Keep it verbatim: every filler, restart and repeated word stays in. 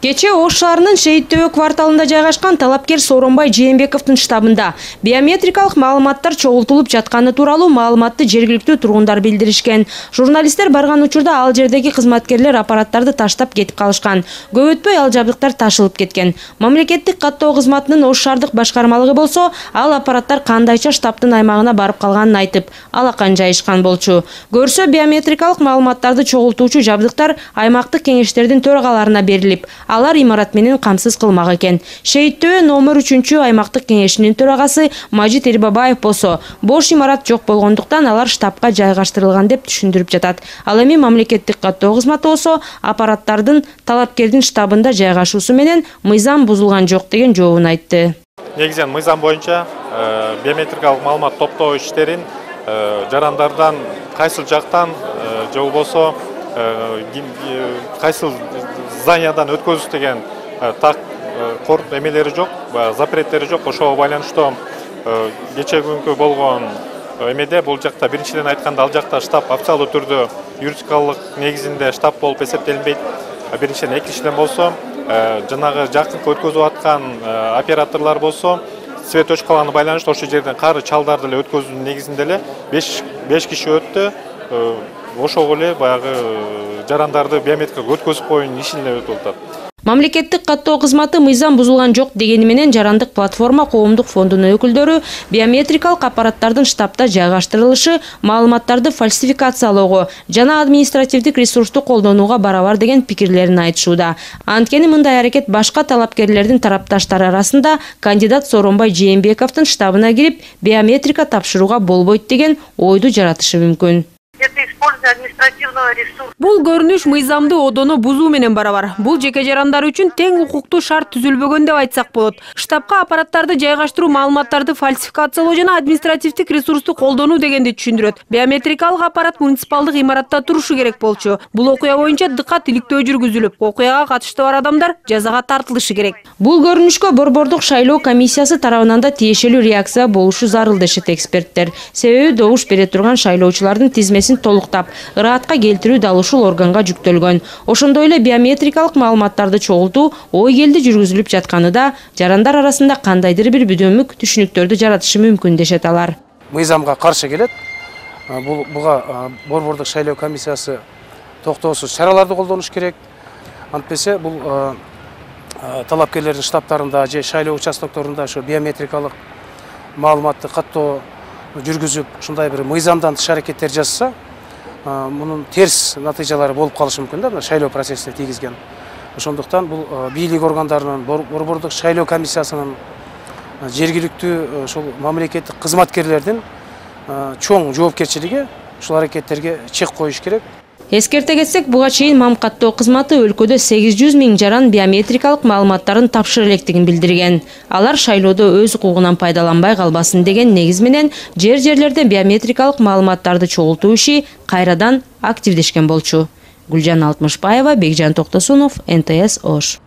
Кече Ош шаарынын Шейит Төбө кварталында жайгашкан талапкер Сооронбай Жээнбековдун штабында биометрикалык маалыматтар чогултулуп жатканы тууралуу маалыматты жергиликтүү тургундар билдиришкен. Журналисттер барган учурда ал жердеги кызматкерлер аппараттарды таштап кетип калышкан. Көп өтпөй ал жабдыктар ташылып кеткен. Мамлекеттик каттоо кызматынын Ош шаардык башкармалыгы болсо, ал аппараттар кандайча штабтын аймагына барып калганын айтып, алакан жайышкан болчу. Көрсө биометрикалык маалыматтарды чогултуучу жабдыктар аймактык кеңештердин төрагаларына берилип, алар имарат менен камсыз кылмак экен. Шейит Төбө номер үчүнчү аймактык кеңешинин төрагасы Мажит Эрбабаев болсо, бош имарат жок болгондуктан алар штабка жайгаштырылган деп түшүндүрүп жатат. Ал эми мамлекеттик каттоо кызматы болсо, аппараттардын талапкердин штабында жайгашуусу менен мыйзам бузулган жок деген жообун айтты. Негизинен мыйзам боюнча биометрикалык маалымат топтоо иштерин жарандардан кайсыл жактан же болбосо кайсыл зданиядан өткөзүш деген так кор эмелери жок, запреттери жок. Ошого байланыштуу кече күнкү болгон эмеде бул жакта биринчиден айтканда ал жакта штаб официалдуу түрдө юридикалык негизинде штаб болуп эсептелинбейт. Биринчиден, экинчиден болсо жанагы жакынкы өткөзүп аткан операторлор болсо цветочкаларына байланыштуу ошол жерден кары чалдарды эле өткөзүүнүн негизинде эле беш киши өттү. Ошого эле баягы жарандарды биометрикалык өткөзүп коюунун ишин эле өтүп атат. Мамлекеттик каттоо кызматы мыйзам бузулган жок дегени менен жарандык платформа коомдук фондунун өкүлдөрү биометрикалык аппараттардын штабта жайгаштырылышы маалыматтарды фальсификациялоого жана административдик ресурсту колдонууга барабар деген пикирлерин айтышууда. Анткени мындай аракет башка талапкерлердин тарапташтары арасында кандидат Сооронбай Жээнбековдун штабына кирип биометрика тапшырууга болбойт деген ойду жаратышы мүмкүн. Бул көрүнүш мыйзамды одоно бузуу менен барабар. Бул жеке жарандар үчүн тең укуктуу шарт түзүлбөгөн деп айтсак болот. Штабка аппараттарды жайгаштыруу, маалыматтарды фальсификациялоо жана административдик ресурсту колдонуу дегенди түшүндүрөт. Биометрикалык аппарат муниципалдык имаратта турушу керек болчу. Бул окуя боюнча дыкат иликтөө жүргүзүлүп, окуяга катыштуу бар адамдар жазага тартылышы керек. Бул көрүнүшкө Борбордук шайлоо комиссиясы тарабынан да тиешелүү реакция болушу зарыл дешет эксперттер. Себеби добуш бере турган шайлоочулардын тизмесин толуктап, ыраатка келтирүү дал ушул органга жүктөлгөн. Ошондой эле биометрикалык маалыматтарды чогултуу ой келди жүргүзүлүп жатканы да жарандар арасында кандайдыр бир бүдөмүк түшүнүктөрдү жаратышы мүмкүн дешет алар. Мыйзамга каршы келет. Бул буга Борбордук шайлоо комиссиясы токтоосуз чараларды колдонуш керек. Антпесе бул талапкерлердин штабтарында же шайлоо участокторунда ошо биометрикалык маалыматты каттоо жүргүзүп, ушундай бир мыйзамдан тыш аракеттер жасаса, мунун терс натыйжалары болуп калышы мүмкүн да, шайлоо процессине тийгизген. Ошондуктан бул бийлик органдарынын, Борбордук шайлоо комиссиясынын, жергиликтүү ошол мамлекеттик кызматкерлердин чоң жоопкерчилиги ушул аракеттерге чек коюш керек. Эскерте кетсек, буга чейин Мам каттоо кызматы өлкөдө сегиз жүз миң жаран биометрикалык маалыматтарын тапшыра электигин билдирген. Алар шайлоодо өз укугунан пайдаланбай калбасын деген негиз менен жер-жерлерде биометрикалык маалыматтарды чогултуу иши кайрадан активдешкен болчу. Гүлжан Алтмышбаева, Бекжан Токтосунов, эн тэ эс Ош.